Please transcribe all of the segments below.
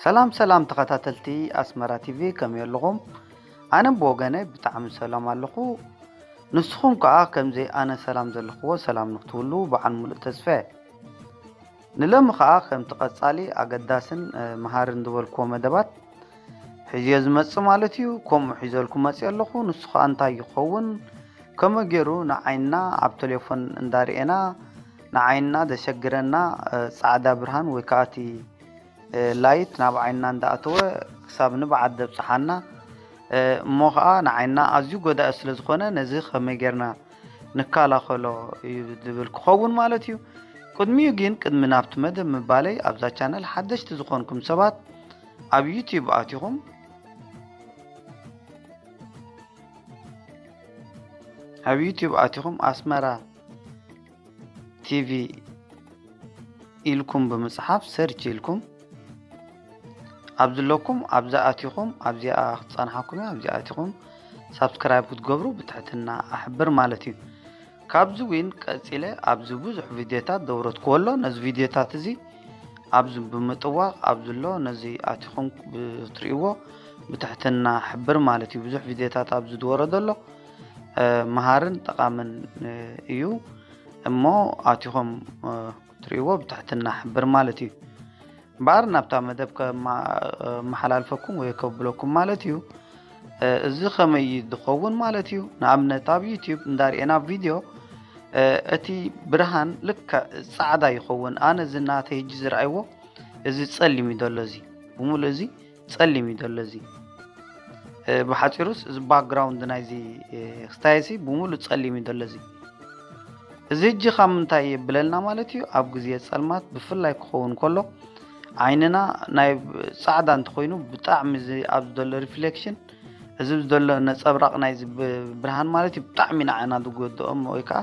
ሰላም ሰላም ተኸታተልቲ ኣስመራ ቲቪ፣ ከመይ ኣለኹም? ኣነ ብወገነይ ብጣዕሚ ሰላም ኣለኹ። ንስኹም ከኣ ከምዚ ኣነ ሰላም ዘለኽዎ ሰላም ንክትብሉ በዓል ሙሉእ ተስፋ እየ። ንሎሚ ከኣ ከምቲ ቀጻሊ ኣገዳስን፣ እ፣ መሃርን ዝበልክዎ መደባት ሒዝዮ ዝመጽእ ማለት እዩ። ከምኡ ሒዘልኩም መጽእ ኣለኹ። ንሱ ከኣ እንታይ ይኸውን? ከመይ ገይሩ ንዓይና ኣብ ቴሌፎን እንዳርኤና ንዓይና ዘሸግረና፣ እ፣ ጻዕዳ ብርሃን ወይ ከኣ እቲ፣ እ፣ ላይት ናብ ዓይንና እንዳኣተወ ክሳብ ንብዓት ዘብጽሓና፣ እ፣ እሞ ከኣ ንዓይንና ኣዝዩ ጎዳኢ ስለ ዝኾነ ነዚ ከመይ ጌርና ንከላኸሎ እዩ ዝብል ክኸውን ማለት እዩ። ቅድሚኡ ግን ቅድሚ ናብቲ መደብ ምባለይ ኣብዛ ቻነል ሓደሽቲ ዝኾንኩም ሰባት ኣብ ዩቲዩብ ኣቲኹም ኣብ ዩቲዩብ ኣቲኹም ኣስመራ ቲቪ ኢልኩም ብምጽሓፍ ሰርች ኢልኩም ኣብ ዝለኩም ኣብዛ ኣቲኹም ኣብዚኣ ክትጸንሓኩም እያ። ኣብዚኣ ኣቲኹም ሳብስክራይብ ክትገብሩ ብትሕትና ኣሕብር ማለት እዩ። ካብዚ እውን ቀጺለ ኣብዚ ብዙሕ ቪድዮታት ዘውረድክዎ ኣሎ። ነዚ ቪድዮታት እዚ ኣብዚ ብምጥዋቕ ኣብዚ ኣሎ ነዚ ኣቲኹም ብትርእይዎ ብትሕትና ሕብር ማለት እዩ። ብዙሕ ቪድዮታት ኣብዚ ዝወረደ ኣሎ። እ፣ መሃርን ጠቓምን፣ እ፣ እዩ። እሞ ኣቲኹም፣ እ፣ ክትርእይዎ ብትሕትና ሕብር ማለት እዩ። እምበኣር ናብታ መደብ ከማ-፣ እ፣ መሓላልፈኩም ወይ ከብለኩም ማለት እዩ። እ፣ እዚ ከመይ እዩ ዝኸውን ማለት እዩ? ንኣብነት ኣብ ዩቲዩብ እንዳርኤና ቪድዮ፣ እ፣ እቲ ብርሃን ልክዕ ጻዕዳ ይኸውን። ኣነ እዚ ናተይ ሕጂ ዝረኣይዎ እዚ ጸሊም እዩ ዘሎ፣ እዚ ብምሉእ እዚ ጸሊም እዩ ዘሎ፣ እዚ። እ፣ ብሓጺሩስ እዚ ባክግራውንድ ናይዚ፣ እ፣ ክስታየሲ ብምሉእ ጸሊም እዩ ዘሎ፣ እዚ። እዚ ሕጂ ካብ ምንታይ የብለልና ማለት እዩ? ኣብ ግዜ ጸልማት ብፍላይ ክኸውን ከሎ ዓይንና ናይ ጻዕዳ እንተኾይኑ ብጣዕሚ እዚ ኣብዚ ዘሎ ሪፍሌክሽን፣ እዚ ዘሎ ነጸብራቕ ናይዚ ብ-፣ ብርሃን ማለት እዩ ብጣዕሚ ንዓና ዝጎድኦም ወይ ከኣ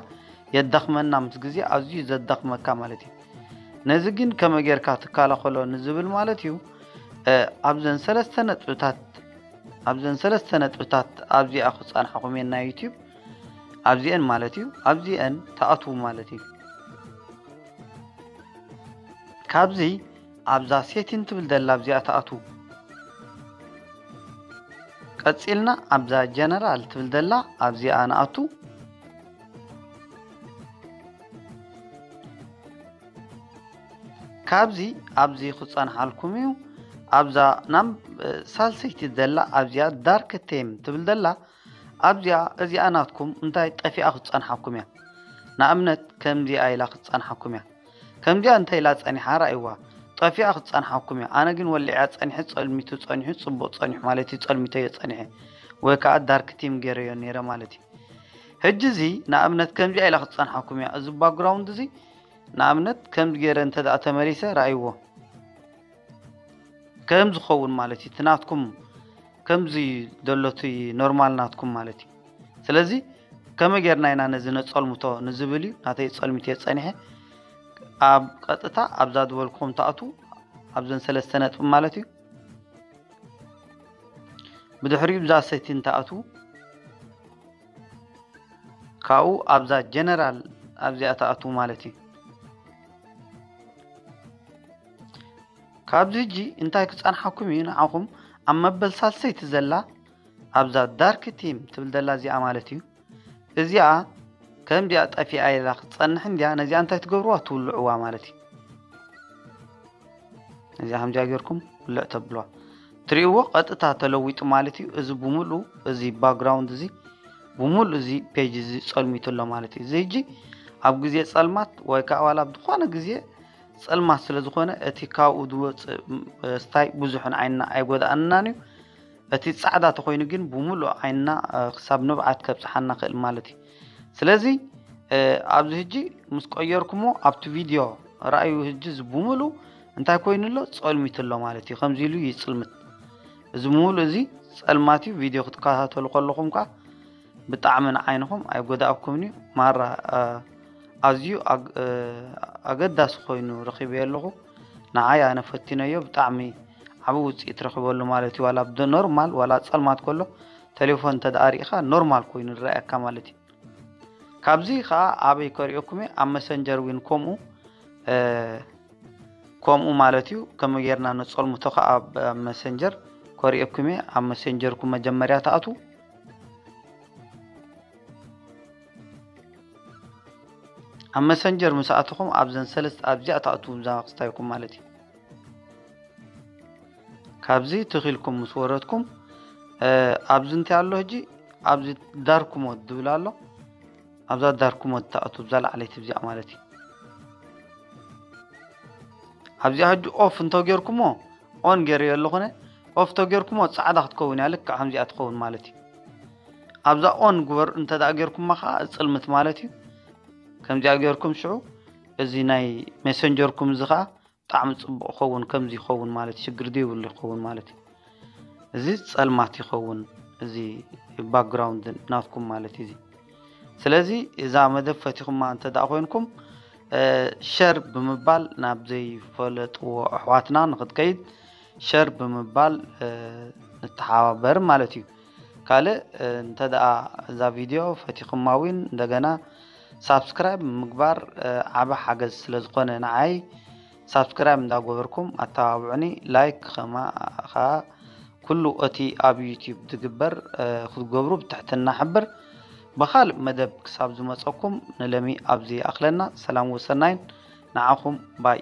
የዳኽመና፣ ምስ ግዜ ኣዝዩ ዘዳኽመካ ማለት እዩ። ነዚ ግን ከመይ ጌርካ ትከላኸሎ ንዝብል ማለት እዩ፣ እ፣ ኣብዘን ሰለስተ ነጥብታት፣ ኣብዘን ሰለስተ ነጥብታት ኣብዚኣ ክጸንሓኹም እየን ናይ ዩቲዩብ፣ ኣብዚአን ማለት እዩ፣ ኣብዚአን ትኣትዉ ማለት እዩ። ካብዚ ኣብዛ ሴቲን ትብል ዘላ ኣብዚኣ ትኣትዉ። ቀጺልና ኣብዛ ጀነራል ትብል ዘላ ኣብዚኣ ንኣቱ። ካብዚ ኣብዚ ክጸንሓልኩም እዩ። ኣብዛ ናም-፣ ሳልሰይቲ ዘላ ኣብዚኣ ዳርክ ቴም ትብል ዘላ ኣብዚኣ፣ እዚኣ ናትኩም እንታይ ጠፊኣ ክትጸንሓኩም እያ። ንኣብነት ከምዚኣ ኢላ ክትጸንሓኩም እያ። ከምዚኣ እንታይ ኢላ ጸኒሓ ረኣይዋ። ጠፊኣ ክትጸንሓኩም እያ። ኣነ ግን ወሊዐ ጸኒሐ፣ ጸልሚቱ ጸኒሑ፣ ጽቡቕ ጸኒሑ ማለት እዩ፣ ጸልሚተዮ ጸኒሐ። ወይ ከኣ ዳርክ ቲም ገይረዮ ነይረ ማለት እዩ። ሕጂ እዚ ንኣብነት ከምዚኣ ኢላ ክትጸንሓኩም እያ። እዚ ባክግራውንድ እዚ ንኣብነት ከምዚ ገይረ እንተ ደኣ ተመሊሰ ረኣይዎ። ከም ዝኸውን ማለት እዩ። እቲ ናትኩም ከምዚ ዘሎ እቲ ኖርማል ናትኩም ማለት እዩ። ስለዚ ከመይ ጌርና ኢና ነዚ ነጸልምቶ ንዝብል እዩ ናተይ ጸልሚት እየ ጸኒሐ። ኣብ ቀጥታ ኣብዛ ዝበልኩም ትኣትዉ፣ ኣብዘን ሰለስተ ነጥቢ ማለት እዩ። ብድሕሪኡ ብዛ ሴቲን ትኣትዉ፣ ካብኡ ኣብዛ ጀነራል ኣብዚኣ ትኣትዉ ማለት እዩ። ካብዚ ሕጂ እንታይ ክጸንሓኩም እዩ ንዓኹም ኣብ መበል ሳልሰይቲ ዘላ ኣብዛ ዳርክ ቲም ትብል ዘላ እዚኣ ማለት እዩ። እዚኣ ከምዚኣ ጠፊኣ ኢላ ክትጸንሕ እንድያ፣ ነዚኣ እንታይ ትገብርዋ? ትውልዕዋ ማለት እዩ። ነዚኣ ከምዚኣ ጌርኩም ውልዕ ተብልዋ። ትርእይዎ ቀጥታ ተለዊጡ ማለት እዩ። እዚ ብምሉእ እዚ ባክግራውንድ እዚ ብምሉእ እዚ ፔጅ እዚ ጸልሚቱ ኣሎ ማለት እዩ። እዚ ሕጂ ኣብ ግዜ ጸልማት ወይ ከኣ ዋላ ኣብ ዝኾነ ግዜ ጸልማት ስለ ዝኾነ እቲ ካብኡ ዝወጽእ፣ ም-፣ ስታይ ብዙሕ ንዓይንና ኣይጎድኣናን እዩ። እቲ ጻዕዳ ተኾይኑ ግን ብምሉእ ዓይንና፣ እ፣ ክሳብ ንብዓት ከብጽሓና ክእል ማለት እዩ። ስለዚ፣ እ፣ ኣብዚ ሕጂ ምስ ቀየርኩሞ ኣብቲ ቪድዮ ረኣዩ፣ ሕጂ እዚ ብምሉእ እንታይ ኮይኑ ኣሎ? ጸልሚቱ ኣሎ ማለት እዩ። ከምዚ ኢሉ ይጽልምት። እዚ ምሉእ እዚ ጸልማት እዩ። ቪድዮ ክትከታተሉ ከለኹም ከኣ ብጣዕሚ ንዓይንኹም ኣይጎዳእኩምን እዩ። ማራ፣ እ፣ ኣዝዩ ኣግ-፣ እ፣ ኣገዳሲ ኮይኑ ረኺበዮ ኣለኹ። ንዓይ ኣነ ፈቲነዮ፣ ብጣዕሚ ዓቢ ውጽኢት ረኺበሉ ማለት እዩ። ዋላ ብኖርማል ዋላ ጸልማት ከሎ ቴሌፎን እንተ ደኣ ርኢኻ ኖርማል ኮይኑ ዝረኣየካ ማለት እዩ። ካብዚ ከኣ ኣበይ ከርእየኩም እየ? ኣብ መሰንጀር እውን ከምኡ፣ እ፣ ከምኡ ማለት እዩ። ከመይ ጌርና ነጸልምቶ ከኣ ኣብ፣ ኣብ መሰንጀር ከርእየኩም እየ። ኣብ መሰንጀርኩም መጀመርያ ትኣትዉ። ኣብ መሰንጀር ምስ ኣተኹም ኣብዘን ሰለስተ ኣብዚኣ ትኣትዉ እዛ ክስታይኩም ማለት እዩ። ካብዚ ትኺልኩም ምስ ወረድኩም፣ እ፣ ኣብዚ እንታይ ኣሎ ሕጂ? ኣብዚ ዳርክ ሞድ ዝብል ኣሎ። ኣብዛ ዳርክ ሞድ ትኣትዉ፣ እዛ ላዕለይቲ እዚኣ ማለት እዩ። ኣብዚኣ ሕጂ ኦፍ እንተጌርኩሞ፣ ኦን ገይረዮ ኣለኹነ፣ ኦፍ ተጌርኩሞ ጻዕዳ ክትከውን እያ፣ ልክዕ ከምዚኣ ትኸውን ማለት እዩ። ኣብዛ ኦን ግበር እንተ ደኣ ጌርኩማ ከኣ እጽልምት ማለት እዩ። ከምዚኣ ጌርኩም ሽዑ እዚ ናይ ሜሰንጀርኩም እዚ ከኣ ብጣዕሚ ጽቡቕ ይኸውን፣ ከምዚ ይኸውን ማለት እዩ፣ ሽግር ዘይብሉ ይኸውን ማለት እዩ። እዚ ጸልማት ይኸውን፣ እዚ ባክግራውንድ ናትኩም ማለት እዩ። እዚ ስለዚ እዛ መደብ ፈቲኹማ እንተ ደኣ ኮይንኩም፣ እ፣ ሸር ብምባል ናብ ዘይፈለጥዎ ኣሕዋትና ንኽትከይድ ሸር ብምባል፣ እ፣ ንተሓባበር ማለት እዩ። ካልእ፣ እ፣ እንተ ደኣ እዛ ቪድዮ ፈቲኹማ እውን እንደገና ሳብስክራይብ ምግባር፣ እ፣ ዓቢ ሓገዝ ስለ ዝኾነ ንዓይ ሳብስክራይብ እንዳገበርኩም ኣተባብዑኒ። ላይክ ከማ ኸኣ ኩሉ እቲ ኣብ ዩቲዩብ ዝግበር፣ እ፣ ክትገብሩ ብትሕትና ሕብር። ብኻልእ መደብ ክሳብ ዝመጸኩም ንለሚ ኣብዚ ይኣኽለና። ሰላም ወሰናይን ንዓኹም ባይ።